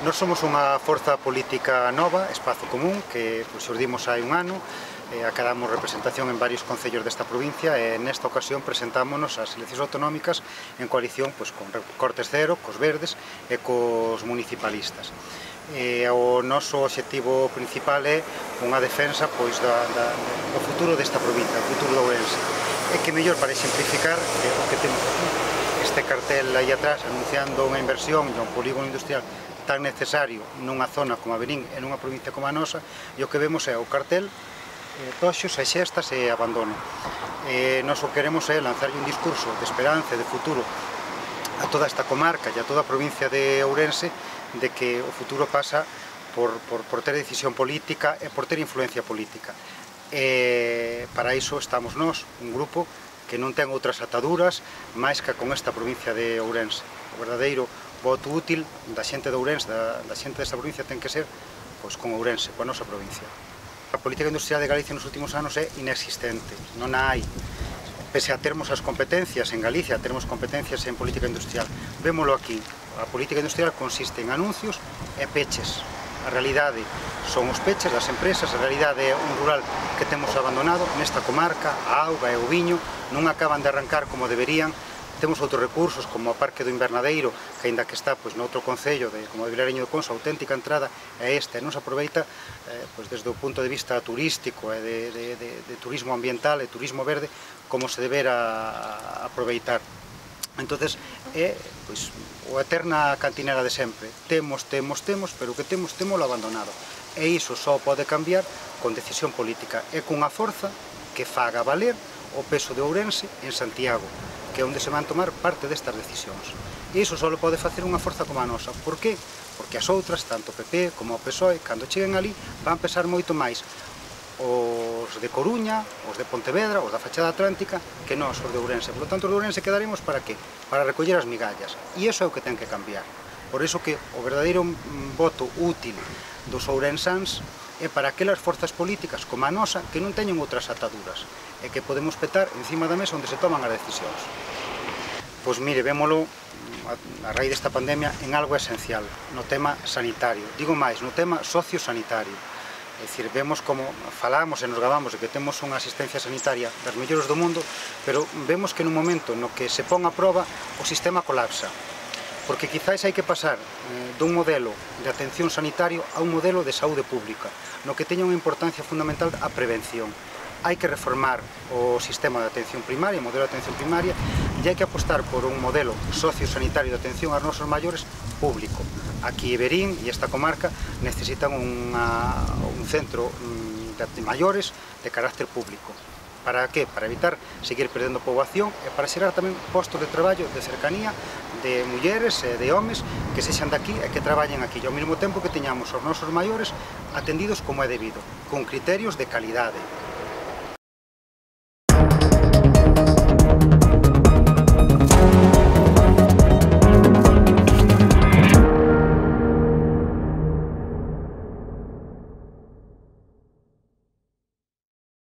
Nós somos unha forza política nova, Espazo Común, que xurdimos hai un ano, acadamos representación en varios concellos desta provincia e nesta ocasión presentámonos ás eleccións autonómicas en coalición con Cortes Cero, cos verdes e cos municipalistas. O noso obxectivo principal é unha defensa do futuro desta provincia, o futuro de Ourense. E que mellor para exemplificar o que temos aquí, este cartel aí atrás anunciando unha inversión e un polígono industrial tan necesario nunha zona como a Verín e nunha provincia como a nosa, e o que vemos é o cartel, toxos e xestas e abandono. Nós o que queremos é lanzarlle un discurso de esperanza e de futuro a toda esta comarca e a toda a provincia de Ourense, de que o futuro pasa por ter decisión política e por ter influencia política. Para iso estamos nós, un grupo que non ten outras ataduras máis que con esta provincia de Ourense. O verdadeiro voto útil da xente de Ourense, da xente desta provincia, ten que ser con Ourense, coa nosa provincia. A política industrial de Galicia nos últimos anos é inexistente, non a hai. Pese a termos as competencias en Galicia, termos competencias en política industrial, vémolo aquí. A política industrial consiste en anuncios e peches. A realidade son os peches das empresas, a realidade é un rural que temos abandonado nesta comarca, a auga e o viño non acaban de arrancar como deberían. Temos outros recursos como o Parque do Invernadeiro, que aínda que está noutro concello como de Vilareño de Conso, a auténtica entrada é esta, e non se aproveita desde o punto de vista turístico e de turismo ambiental e turismo verde como se debera aproveitar. Entonces é a eterna cantinera de sempre, temos, pero o que temos abandonado, e iso só pode cambiar con decisión política e cunha forza que faga valer o peso de Ourense en Santiago, que é onde se van tomar parte destas decisións. E iso só pode facer unha forza como a nosa. Por qué? Porque as outras, tanto o PP como o PSOE, cando cheguen ali, van pesar moito máis os de Coruña, os de Pontevedra, os da fachada atlántica, que nós, os de Ourense. Por lo tanto, os de Ourense quedaremos para qué? Para recoller as migallas. E iso é o que ten que cambiar. Por iso que o verdadeiro voto útil dos ourensáns é para aquelas forzas políticas como a nosa que non teñen outras ataduras e que podemos petar encima da mesa onde se toman as decisións. Pois mire, vémolo a raíz desta pandemia en algo esencial, no tema sanitario, digo máis, no tema sociosanitario. É dicir, vemos como falamos e nos gabamos de que temos unha asistencia sanitaria das mellores do mundo, pero vemos que nun momento no que se pon a proba o sistema colapsa. Porque quizáis hai que pasar dun modelo de atención sanitario a un modelo de saúde pública, no que teña unha importancia fundamental a prevención. Hai que reformar o sistema de atención primaria, o modelo de atención primaria, e hai que apostar por un modelo sociosanitario de atención aos nosos maiores público. Aquí Verín e esta comarca necesitan un centro de maiores de carácter público. Para que? Para evitar seguir perdendo poboación e para xerar tamén postos de traballo de cercanía de mulleres e de homes que sexan daqui e que traballen aquí, e ao mesmo tempo que teñamos os nosos maiores atendidos como é debido, con criterios de calidade.